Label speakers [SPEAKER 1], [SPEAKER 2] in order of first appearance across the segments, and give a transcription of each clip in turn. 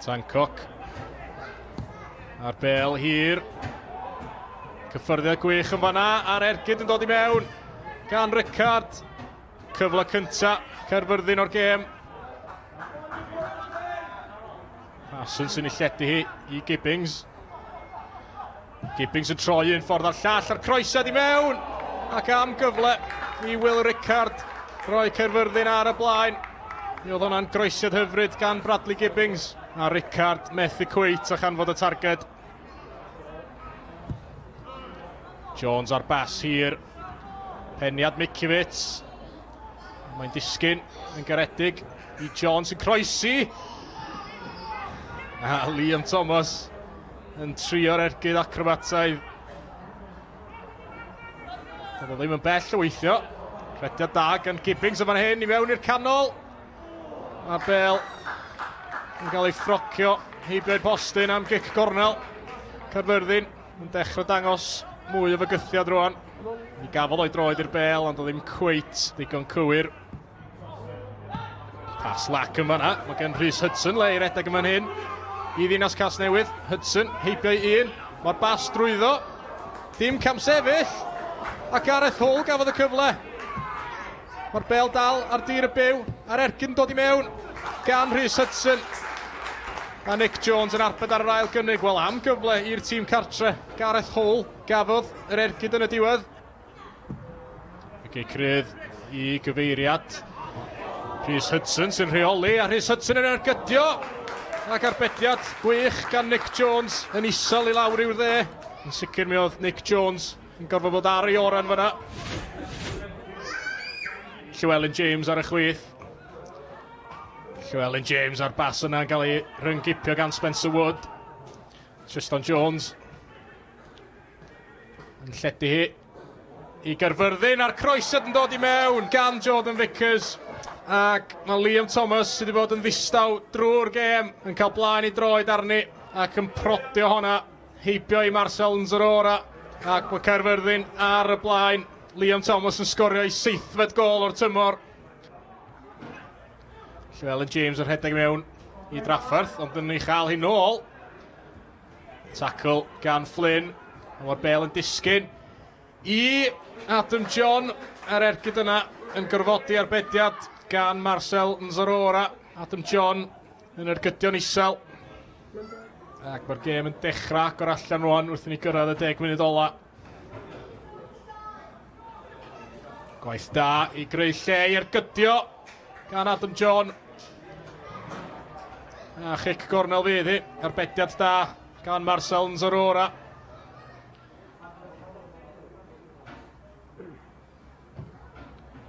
[SPEAKER 1] Tancock. A'r bel hir. Cyffyrddiad gwych yn fanna, a'r ergyd yn dod i mewn gan Rickard. Cyfle cynta Caerfyrddin o'r gêm. Parsons sy'n ei lledu hi i Gibbings. Gibbings yn troi un ffordd a'r llall, a'r croesiad i mewn! Ac am gyfle i Will Rickard roi Caerfyrddin ar y blaen. Mi oedd hwnna'n groesiad hyfryd gan Bradley Gibbings. A Rickard methu cweit a chanfod y targed. Jones ar bas hir. Peniad Mikiewicz. Mae'n disgyn yn garedig i Jones yn croesi. A Liam Thomas yn trio'r ergyd acrobataidd. Doedd o ddim yn bell o weithio. Rhediad da gan Gibbings yn fan hyn i mewn i'r canol. A'r bel yn cael ei ffrocio heibio'r postyn am gic gornel. Caerfyrddin yn dechrau dangos mwy o fygythiad rwan. Mi gafodd o'i droed i'r bel, ond o ddim cweit ddigon cywir. Pas lac yn fanna. Mae gen Rhys Hudson le i redeg yn fan hyn. I Ddinas Casnewydd. Hudson heibio i un. Mae'r bas drwyddo. Dim camsefyll. A Gareth Hall gafodd y cyfle. Mae'r bel dal ar dir y byw. A'r ergyd yn dod i mewn gan Rhys Hudson. A Nick Jones yn arbed ar yr ail gynnig. Wel, am gyfle i'r tîm cartre. Gareth Hall gafodd yr ergyd yn y diwedd. Y gic rydd i gyfeiriad. Rhys Hudson sy'n rheoli, a Rhys Hudson yn ergydio. Ac arbediad gwych gan Nick Jones yn isel i lawr i'w dde. Yn sicr mi oedd Nick Jones yn gorfod bod ar ei oran fyna. Llewellyn James ar y chwith. Llewellyn James a'r bas yna yn cael ei rhyngipio gan Spencer Wood. Tristan Jones yn lledu hi i Gaerfyrddin, a'r croesiad yn dod i mewn gan Jordan Vickers. Ac mae Liam Thomas sydd wedi bod yn ddistaw drwy'r gêm yn cael blaen i droed arni ac yn prodio honna heibio i Marcel Nzorora, ac mae Caerfyrddin ar y blaen. Liam Thomas yn sgorio ei 7fed gol o'r tymor. Llewellyn James yn rhedeg mewn i drafferth, ond yn ei chael hi nôl. Tackle gan Flynn. Mae'r bel yn disgyn i Adam John, a'r ergyd yna yn gorfodi arbediad gan Marcel Nzorora. Adam John yn ergydio'n isel. Ac mae'r gêm yn dechrau agor allan rwan wrth i ni gyrraedd y 10 munud ola. Gwaith da i greu lle i ergydio gan Adam John. A chic gornel fydd hi. Arbediad da gan Marcel Nzorora.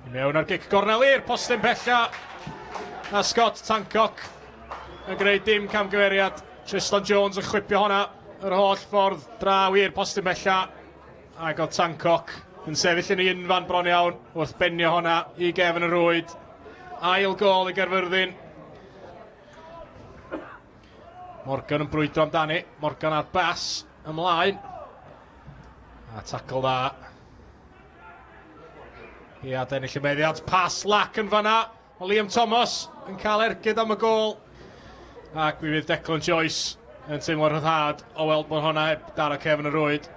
[SPEAKER 1] I mewn ar gic gornel i'r postyn pella. A Scott Tancock yn gwneud dim camgymeriad. Tristan Jones yn chwipio honna yr holl ffordd draw i'r postyn pella. Ac oedd Tancock yn sefyll yn ei unfan bron iawn wrth benio honna i gefn y rwyd. Ail gol i Gaerfyrddin. Morgan yn brwydro amdani. Morgan ar bas ymlaen. A tackle dda. I adennill y meddiant. Pas lac yn fanna. Mae Liam Thomas yn cael ergyd am y gol. Ac mi fydd Declan Joyce yn teimlo rhyddhad o weld bod honna heb daro cefn y rwyd.